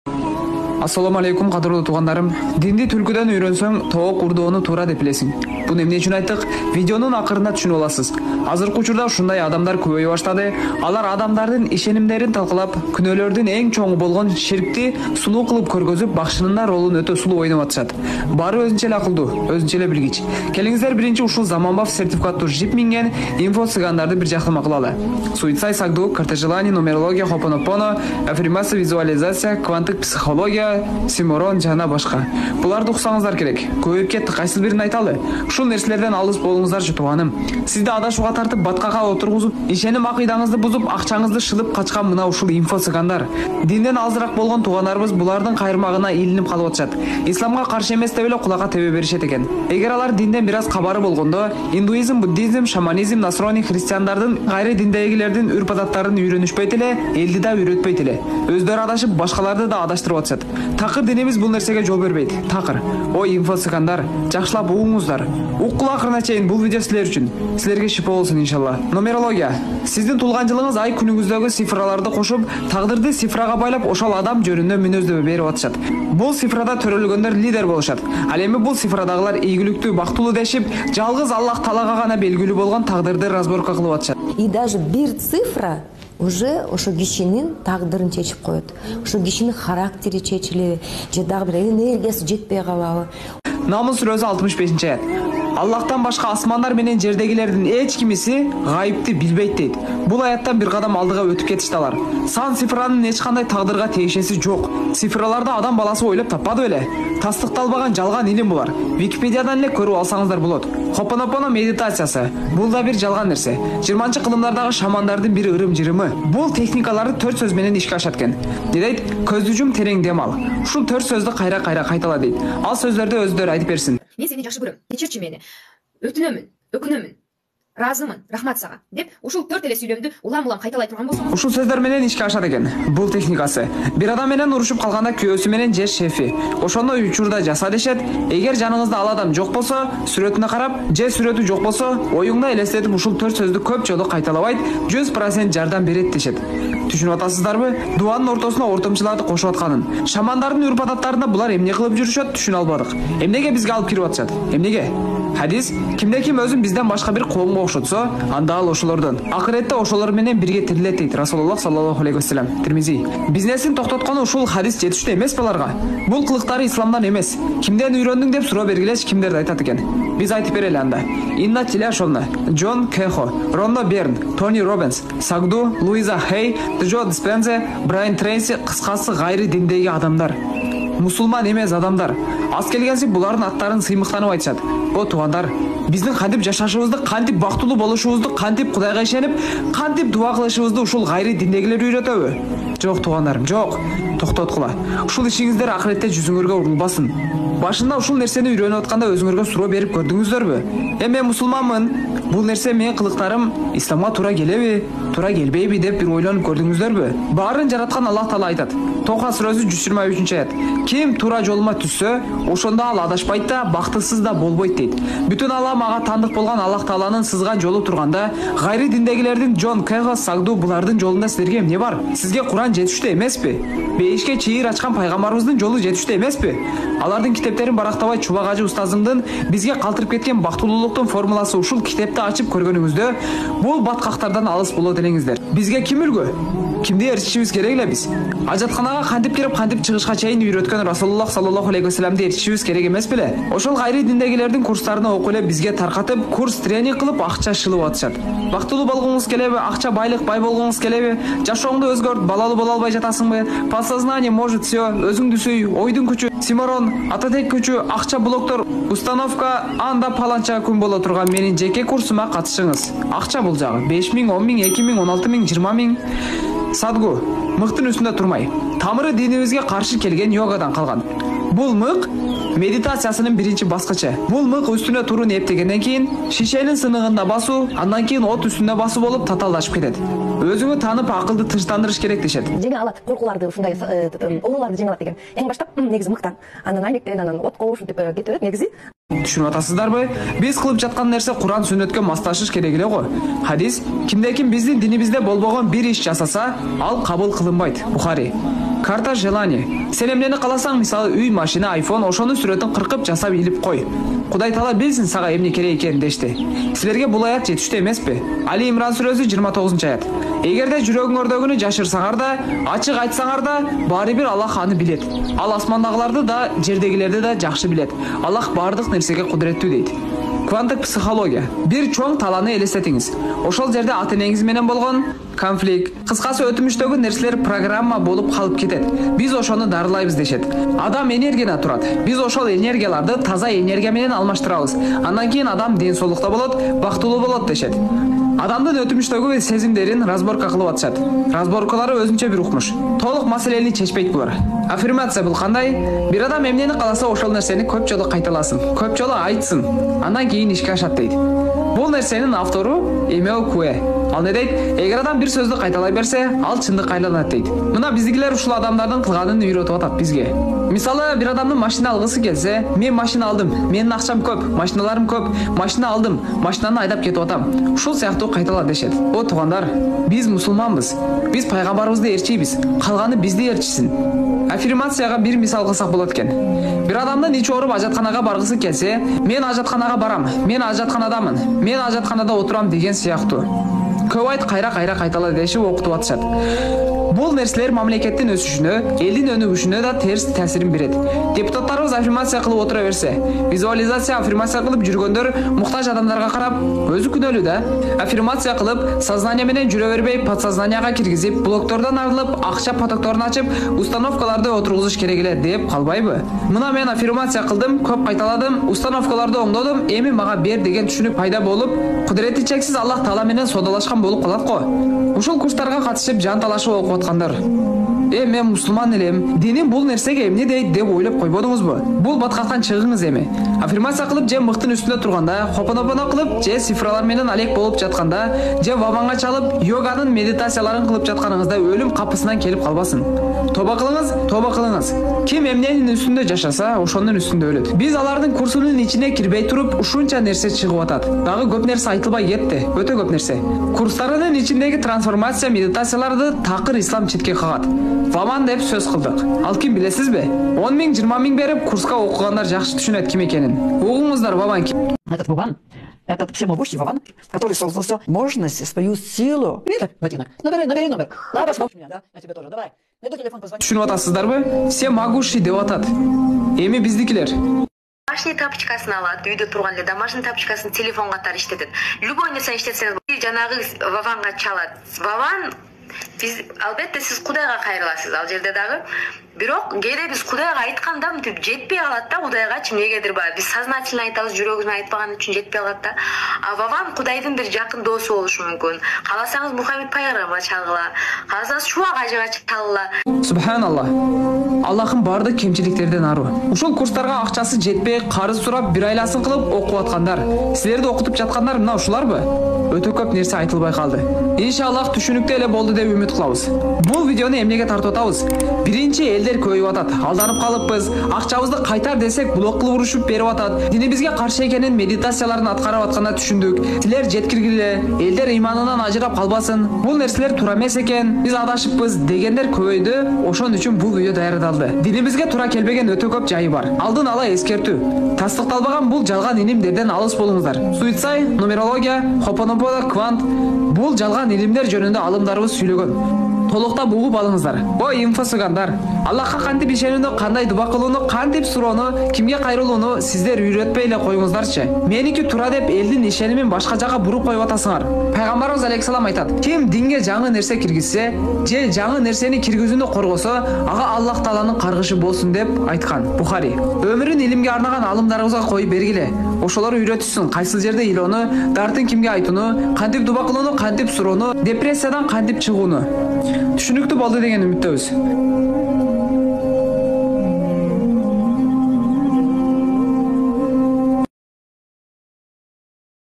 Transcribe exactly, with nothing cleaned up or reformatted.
Assalamu alaikum кадырлуу туугандарым. Динди түлкүдөн үйрөнсөң, тоок урдоону туура деп билесиң. Буну эмне үчүн айттык? Видеонун акырында түшүнүп аласыз. Азыркы учурда ушундай адамдар көбөйө баштады. Алар адамдардын ишенимдерин талкалап, күнөөлөрдүн эң чоңу болгон ширкти сунуу кылып көргөзүп, бакшынын ролун өтө сулуу ойноп атышат. Баары өзүнчө эле акылдуу, өзүнчө эле билгич. Келиңиздер биринчи ушул заманбап сертификаттуу жип минген инфо цыгандарды бир жактама кылалы. Суицай сагду, картежелание, нумерология, хопонопоно, аффирмация, визуализация, кванттык психология, Симорон жана башка. Буларды уксаңыздар керек. Көбөйүп кетти, кайсы бирин айталы? Ушул нерселерден алыс болуңуздарчы тууганым. Сизди адашууга тартып, баткага отургузуп, ишеним акыйдаңызды бузуп, акчаңызды шылып качкан мына ушул инфо цыгандар. Динден алысыраак болгон туугандарыбыз булардын кайрмагына илинип калып атышат. Исламга каршы эмес деп эле кулакка тебе беришет экен. Эгер алар динден бир аз кабары болгондо, индуизм, буддизм, шаманизм, насрони, христиандардын, кайры диндегилердин үрп-адаттарын үйрөнүшпөйт эле, элди да үйрөтпөйт эле. Өздөрү адашып, башкаларды да адаштырып атышат. Такыр динибиз бул нерсеге жол бербейт. Такыр. Ой, инфо цыгандар, жакшылап угуңуздар. Уккул акырына чейин бул видео силер үчүн. Силерге шипа болсун иншалла. Нумерология. Сиздин туулган жылыңыз ай күнүңүздөгү цифраларды кошуп, тагдырды цифрага байлап, ошол адам жөнүндө мүнөздөмө берип атышат. Бул цифрада төрөлгөндөр лидер болушат. Ал эми бул цифрадагылар ийгиликтүү, бактылуу дешип, жалгыз Аллах Таалага гана белгилүү болгон тагдырды разборка кылып атышат. И даже бир цифра уже ошо кишинин тагдырын чечип коет. Ошо кишинин характери чечилеби, же дагы бир энергиясы жетпей калабы. Намыл сүрөсү алтымыш бешинчи аят. Аллахтан башка асмандар менен жердегилердин эч кимиси гайыпты билбейт дейт. Бул аяттан бир кадам алдыга өтүп кетишти алар. Сан цифранын эч кандай тагдырга тиешеси жок. Цифраларды адам баласы ойлоп таппады беле? Тастыкталбаган жалган илим булар. Википедиядан эле көрүп алсаңыздар болот. Хопонопоно медитациясы. Бул да бир жалган нерсе. жыйырманчы кылымдардагы шамандардын бир ырым-жырымы. Бул техникаларды төрт сөз менен ишке ашат экен. Не дейт? Көздү жум, терең дем ал. Ушул төрт сөздү кайра-кайра кайтала дейт. Ал сөздөрдү өздөрү айтып берсин. Мен сени жакшы көрөм. Кечирчи мени. Өтүнөмүн, өкүнөмүн. Разымын, рахмат сага деп ушул төрт эле сүйлөмдү улам-улам кайталай турган болсоңуз, ушул сөздөр менен ишке ашат экен. Бул техникасы. Бир адам менен урушуп калганда күйөөсү менен же шефи ошондо учурда жаса дешет. Эгер жаныңызда ал адам жок болсо, сүрөтүнө карап, же сүрөтү жок болсо, оюңда элестетип ушул төрт сөздү көп жолу кайталабайт, жүз процент жардам берет дешет. Түшүнүп атасыздарбы? Дуанын ортосуна ортомчуларды кошуп атканын. Шамандардын үрп-адаттарында булар эмне кылып жүрүшөт, түшүнө албадык. Эмнеге бизге алып кирип атышат? Эмнеге? Хадис: кимде ким өзүн бизден башка бир коомго окшотсо, анда ал ошолордон. Акыретте ошолор менен бирге тирилет дейт Расулуллах саллаллаху алейхи вассалам. Тирмизи. Бизнесин токтоткону ушул хадис жетиштүү эмес баларга. Бул кылыктары исламдан эмес. Кимден үйрөндүң деп суроо бергилеч кимдерди айтат экен. Биз айтып берели анда. Инна Тиляшовна, Джон Кехо, Ронно Берн, Тони Робинс, Сагду, Луиза Хей, Джо Диспензе, Брайан Трейси, кыскасы гайры диндеги адамдар. Мусулман эмес адамдар. Аз келгенси булардын аттарын сыймыктанып айтышат. О туугандар, биздин кантип жашашыбызды, кантип бактылуу болушубузду, кантип Кудайга ишенип, кантип дуа кылышыбызды ушул гайры диндегилер үйрөтөбү? Жок туугандарым, жок. Токтоткула. Ушул ишиңиздер акыретте жүзүңөргө урулбасын. Башында ушул нерсени үйрөнүп атканда өзүңөргө суроо берип көрдүңүздөрбү? Эми мен мусулманмын. Бул нерсе менин кылыктарым исламга туура келеби, туура келбейби деп бир ойлонуп көрдүңүздөрбү? Баарын жараткан Аллах Таала айтат. Тоха сүрөсү жүз жыйырма үчүнчү аят. Ким туура жолума түссө, ошондо ал адашпайт да, бактысыз да болбойт дейт. Бүтүн алам ага тандык болгон Аллах Тааланын сызган жолу турганда, гайры диндегилердин Джон Кехо, Сагду булардын жолунда силерге эмне бар? Сизге Куран жетиштүү эмеспи? Бейишке чыйыр ачкан пайгамбарыбыздын жолу жетиштүү эмеспи? Алардын китептерин барактабай Чубак ажы устазымдын бизге калтырып кеткен бактылуулуктун формуласы ушул китепти ачып көргөнүңүздө, бул баткактардан алыс болот элеңиздер. Бизге ким үлгү? Кимди эрчишибиз керек эле биз? Ажатканага кантип кирип, кантип чыгышка чейин үйрөткөн Расулуллах саллаллаху алейхи вассаламды эрчишибиз керек эмес беле? Ошол гайры диндегилердин курстарына окуп эле бизге таркатып, курс тренинг кылып акча шылып атышат. Бактылуу болгоңуз келеби? Акча, байлык, бай болгоңуз келеби? Жашооңду өзгөрт, балалуу боло албай жатасыңбы? Подсознание может все, өзүңдү сүй, ойдун күчү, Симорон, ататек күчү, акча блоктор, установка, анда паланча күн боло турган менин жеке курсума катышыңыз. Акча бул жагы беш миң, он миң, эки миң, он алты миң, жыйырма миң. Садгу, мыктын үстүндө турмай. Тамыры динибизге каршы келген йогадан калган. Бул мык медитациясынын биринчи баскычы. Бул мык үстүнө турун эптегенден кийин шишенин сыныгында басуу, андан кийин от үстүндө басуу болуп татаалдашып кетет. Өзүңү танып акылды тынчтандырыш керек дешет. Жеңе алат, коркууларды ушундай оолууларды жеңе алат деген. Эң баштап негизи мыктан, андан аймектен, анан отко ушинтип кете берет негизи. Түшүнүп атасыздарбы? Биз кылып жаткан нерсе Куран сүннөткө маслашыш керек эле го. Хадис: кимде ким биздин динибизде болбогон бир иш жасаса, ал кабыл кылынбайт. Бухари. Карта желание. Сен эмнени кааласаң, мисалы үй, машина, айфон, ошонун сүрөтүн кыркып жасап илип кой. Кудай Таала билсин сага эмне керек экенин дешти. Силерге бул аят жетиштүү эмеспи? Али Имран сүрөсү жыйырма тогузунчу аят. Эгерде жүрөгүңөрдөгүнү жашырсаңар да, ачык айтсаңар да, баары бир Аллах аны билет. Ал асмандагыларды да, жердегилерди да жакшы билет. Аллах баардык нерсеге кудуреттүү дейт. Кванттык психология. Бир чоң талааны элестетиңиз. Ошол жерде ата-энеңиз менен болгон конфликт, кыскасы өтмүштөгү нерселер программа болуп калып кетет. Биз ошону дарылайбыз дешет. Адам энергиядан турат. Биз ошол энергияларды таза энергия менен алмаштырабыз. Андан кийин адам ден соолукта болот, бактылуу болот дешет. Адамдын өтмүштөгү сезимдерин разборка кылып атышат. Разборкалары өзүнчө бир укмуш. Толук маселени чечпейт булар. Аффирмация бул кандай? Бир адам эмнени кааласа, ошол нерсени көп жолу кайталасын, көп жолу айтсын. Андан кийин ишке ашат дейт. Бул нерсенин автору Эмео Куэ. Ал не дейт? Эгер адам бир сөздү кайталай берсе, ал чындыкка айланат дейт. Мына биздикилер ушул адамдардын кылганын үйрөтүп атат бизге. Мисалы, бир адамдын машина алгысы келсе, мен машина алдым, менин акчам көп, машиналарым көп, машина алдым, машинаны айдап кетип атам. Ушул сыяктуу кайтала дешет. О туугандар, биз мусулманбыз. Биз пайгамбарыбызды ээрчийбиз. Калганы бизди ээрчисин. Аффирмацияга бир мисал кылсак болот экен. Бир адамдын ичи ооруп ажатканага баргысы келсе, мен ажатканага барам, мен ажатканадамын, мен ажатканада отурам деген сыяктуу. Көп айт кайра-кайра кайтала дешип окутуп атышат. Бул нерселер мамлекеттин өсүшүнө, элдин өнүгүшүнө да терс таасирин берет. Депутаттарыбыз аффирмация кылып отура берсе, визуализация аффирмация кылып жүргөндөр муктаж адамдарга карап, өзү күнөөлүү да. Аффирмация кылып, сознание менен жүрө бербей, подсознанияга киргизип, блоктордон арылып, акча потокторун ачып, установкаларды отургузуш керек эле деп калбайбы? Мына мен аффирмация кылдым, көп кайталадым, установкаларды оңдодум, эми мага бер деген түшүнүк пайда болуп, кудурети чексиз Аллах Таала менен содалашкан болуп калат го. Ушул курстарга катышып, жан талашып окуп аткандар. Э, мен мусулман элем. Диним бул нерсеге эмне дейт деп ойлоп койбодуңузбу? Бул баткаттан чыгыңыз эми. Аффирмация кылып, же мыктын үстүндө турганда, хопонопоно кылып, же цифралар менен алек болуп жатканда, же ваванга чалып, йоганын медитацияларын кылып жатканыңызда өлүм капысынан келип калбасын. Тоба кылыңыз, тоба кылыңыз. Ким эмненин үстүндө жашаса, ошонун үстүндө өлөт. Биз алардын курсунун ичине кирбей туруп, ушунча нерсе чыгып атат. Дагы көп нерсе айтылбай кетти, өтө көп нерсе. Курстарынын ичиндеги трансформация медитацияларды такыр ислам четке кагат. Ваман деп сөз кылдык. Ал ким билесизби? он миң, жыйырма миң берип курска окугандар жакшы түшүнөт ким экенин. Угуңуздар, Ваван ким? Этот Ваван, этот всемогущий Ваван, который создал все мощность, свою силу. Видишь, Ватина? Набери, набери номер. Давай, посмотри меня, да? Я тебе тоже, давай. Найду телефон, позвони. Түшүнүп атасыздарбы? Всемогущий деп атат. Эми биздикилер. Домашний тапочкасын алат, үйдө турган эле домашний тапочкасын телефон катары иштетет. Любой нерсе иштетсеңиз, жанагы Ваванга чалат. Ваван биз албетте сиз Кудайга кайрыласыз ал жерде дагы. Бирок кээде биз Кудайга айтканда мынтип жетпей калат да, Кудайгачы эмнегедир баягы биз сознательно айтабыз, жүрөгүбүзөн айтпаган үчүн жетпей калат да. А Ваван Кудайдын бир жакын доосу болушу мүмкүн. Кааласаңыз Мухаммед пайгамбарга чалгыла, кааласаңыз Шуа кажыга чалгыла. Субханаллах. Аллахын бардык кемчиликтерден аруу. Ушул курстарга акчасы жетпей, карыз сурап, бир айласын кылып окуп аткандар, силерди окутуп жаткандар мына ушуларбы? Өтө көп нерсе айтылбай калды. Иншаллах түшүнүктүү эле болду деп үмүт кылабыз. Бул видеону эмнеге тартып атабыз? Биринчи, элдер көбөйүп атат. Алданып калыппыз. Акчабызды кайтар десек, блок кылып урушуп берип атат. Динибизге каршы экенин медитацияларын аткарып атканда түшүндүк. Силер жеткиргиле, элдер ыйманынан ажырап калбасын. Бул нерселер туура эмес экен. Биз адашыппыз дегендер көбөйдү. Ошон үчүн бул видео даярдалды. Динибизге туура келбеген өтө көп жайы бар. Алдын ала эскертүү. Тастыкталбаган бул жалган илимдерден алыс болуңуздар. Суицай, нумерология, хопонопо, квант бул жалган илимдер жөнүндө алымдарыбыз сүйлөгөн. Толуктап угуп алыңыздар. Ой, инфосугандар. Аллахка кантип ишенүүнү, кандай дуба кылууну, кантип суроону, кимге кайрылууну сиздер үйрөтпөй эле коюңуздарчы. Меники туура деп элдин ишенимин башка жака буруп коюп атасыңар. Пайгамбарыбыз алейхисалам айтат: ким динге жаңы нерсе киргизсе, же жаңы нерсени киргизүүнү коргосо, ага Аллах Тааланын каргышы болсун деп айткан. Бухари. Өмүрүн илимге арнаган алымдарыбызга коюп бергиле. Ошолор үйрөтүшсүн, кайсыл жерде ыйлоону, дартын кимге айтууну, кантип дуба кылууну, кантип суроону, депрессиядан кантип чыгууну. Түшүнүктүү болду деген үмүттөбүз.